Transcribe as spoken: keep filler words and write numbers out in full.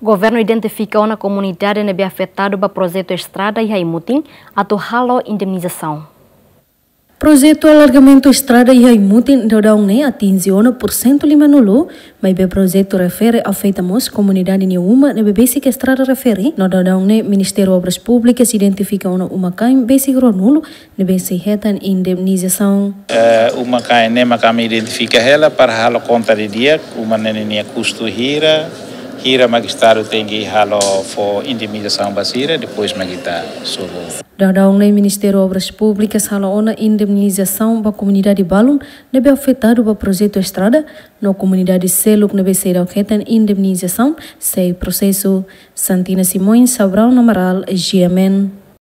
Governu identifika ona komunidade ne'ebé afetadu ba projetu estrada iha Aimutin atu halo indemnizasaun. Projetu alargamentu estrada iha Aimutin daudaun ne'e atinje ona pursentu limanulu, maibé projetu refere afeta mós komunidade nia uma ne'ebé besik estrada refere. No daudaun ne'e Ministériu Obras Públikas identifika ona uma-kain besik ruanulu ne'ebé sei hetan indemnizasaun. Eh, uma-kain ne'e mak ami identifika hela para halo konta didi'ak, uma ne'e nia kustu hira, hira mak Estadu tenke halo fó indemnizasaun ba sira, depois mak ita sobu. Daudaun ne'e Ministériu Obras Públikas halo ona indemnizasaun ba komunidade balun ne'ebé afetadu ba projetu estrada, no komunidade seluk ne'ebé seidauk hetan indemnizasaun sei prosesu. Santina Simões, Sobral Amaral, G M N.